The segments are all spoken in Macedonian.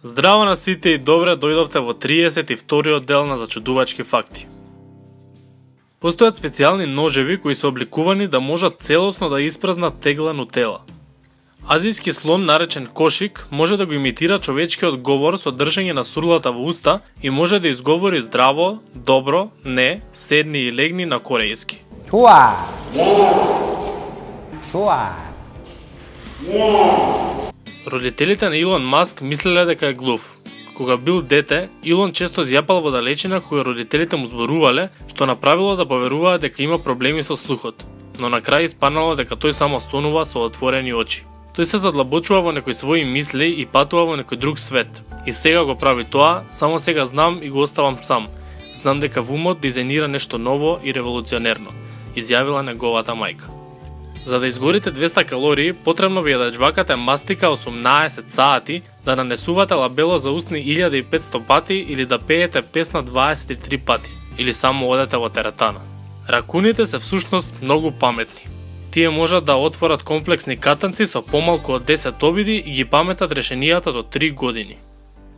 Здраво на сите и добре дојдовте во 32-тиот дел на зачудувачки факти. Постојат специјални ножеви кои се обликувани да можат целосно да испразнат тегла нутела. Азијски слон наречен кошик може да го имитира човечкиот говор со држење на сурлата во уста и може да изговори здраво, добро, не, седни и легни на корејски. 좋아. 좋아. Родителите на Илон Маск мислеле дека е глув. Кога бил дете, Илон често зјапал во далечина кога родителите му зборувале, што направило да поверуваат дека има проблеми со слухот, но на крај испаднало дека тој само сонува со отворени очи. Тој се задлабочува во некои своји мисли и патува во некој друг свет. И сега го прави тоа, само сега знам и го оставам сам. Знам дека во умот дизајнира нешто ново и револуционерно, изјавила неговата мајка. За да изгорите 200 калории, потребно ви е да жвакате мастика 18 сати, да нанесувате лабело за устни 1500 пати или да пеете песна 23 пати, или само одете во теретана. Ракуните се всушност многу паметни. Тие можат да отворат комплексни катанци со помалку од 10 обиди и ги паметат решенијата до 3 години.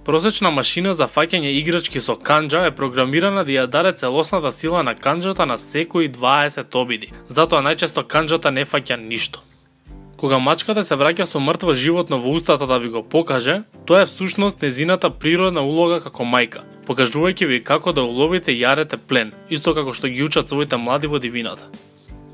Просечна машина за фаќање играчки со канџа е програмирана да ја даде целосната сила на канџата на секои 20 обиди, затоа најчесто канџата не фаќа ништо. Кога мачката се враќа со мртво животно во устата да ви го покаже, тоа е всушност незината природна улога како мајка, покажувајќи ви како да уловите и јадете плен, исто како што ги учат своите млади во дивината.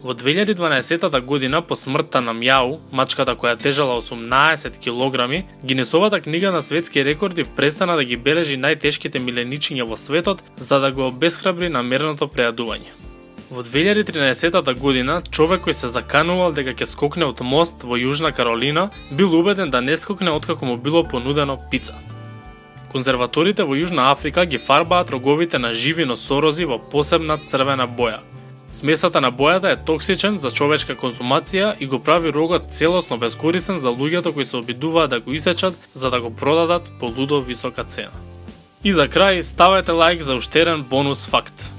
Во 2012 година, по смртта на Мјау, мачката која тежала 18 килограми, Гинесовата книга на светски рекорди престана да ги бележи најтешките миленичиња во светот за да го обесхрабри намерното прејадување. Во 2013 година, човек кој се заканувал дека ќе скокне од мост во Јужна Каролина, бил убеден да не скокне откако му било понудено пица. Конзерваторите во Јужна Африка ги фарбаат роговите на живи носорози во посебна црвена боја. Смесата на бојата е токсичен за човечка консумација и го прави рогот целосно бескорисен за луѓето кои се обидуваат да го исечат за да го продадат по лудо висока цена. И за крај, ставете лајк за уште еден бонус факт.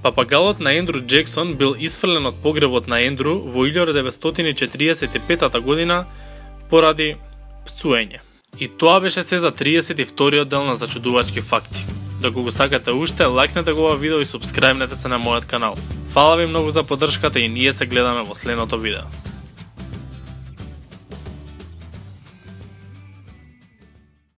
Папагалот на Ендру Джексон бил исфрлен од погребот на Ендру во 1945 година поради пцуење. И тоа беше се за 32-тиот дел на зачудувачки факти. Доколку го сакате уште, лајкнете го ова видео и субскрајбнете се на мојот канал. Фала ви многу за поддршката и ние се гледаме во следното видео.